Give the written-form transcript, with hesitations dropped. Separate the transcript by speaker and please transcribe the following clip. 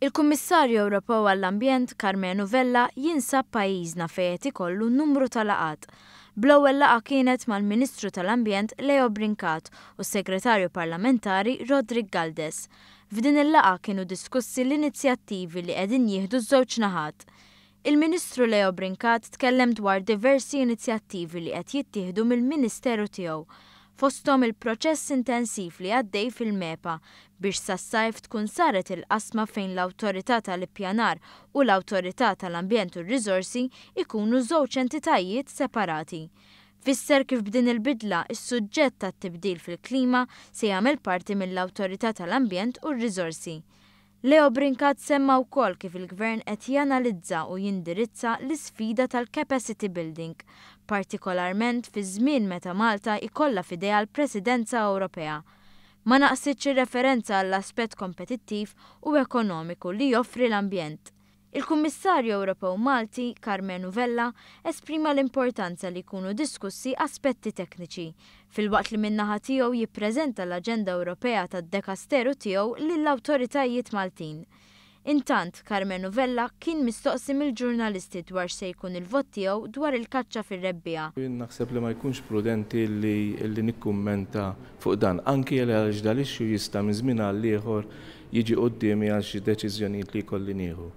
Speaker 1: Il-Kummissarju Ewropew għall-Ambjent, Karmenu Vella, jinsab pajjiżna fejn qed ikollu numru ta' laqgħat. Bl-ewwel laqgħa kienet mal-Ministru tal-Ambjent Leo Brincat u s-Segretarju Parlamentari Roderick Galdes. F'din il-laqgħa kienu diskussi l-inizjattivi li qegħdin jieħdu ż-żewġ naħat. Il-Ministru Leo Brincat tkellem dwar diversi inizjattivi li qed jittieħdu mill-Ministeru tiegħu, fosthom il-proċess intensiv li għaddej fil-MEPA biex sas-sajf tkun saret il-qasma fejn l-Awtorità tal-Ippjanar u l-Awtorità tal-Ambjent u r-Riżorsi jkunu żewġ entitajiet separati. Fisser kif b'din il-bidla s-suġġett tat-tibdil fil-klima se jagħmel parti mill-Awtorità tal-Ambjent u r-Riżorsi. Leo Brincat semma wkoll kif il-Gvern qed janalizza u jindirizza l-isfida tal-capacity building, partikolarment fi żmien meta Malta jkollha f'idejha l-Presidenza Ewropea. Ma naqsitx ir-referenza għall-aspett kompetittiv u ekonomiku li joffri l-ambjent. Il-Kummissarju Ewropew Malti, Karmenu Vella, esprima l-importanza li jkunu diskussi aspetti tekniċi, filwaqt li min-naħa tiegħu jippreżenta l-aġenda Ewropea tad-dekasteru tiegħu lill-awtoritajiet Maltin. Intant, Karmenu Vella kien mistoqsi mill-ġurnalisti dwar x'se jkun il-vot tiegħu dwar il-kaċċa fir-rebbiegħa.
Speaker 2: Jien naħseb li ma jkunx prudenti li nikkummenta fuq dan, anki għaliex dal-issue jista' minn żmien għal ieħor jiġi quddiemi għal xi deċiżjonijiet li jkolli nieħu.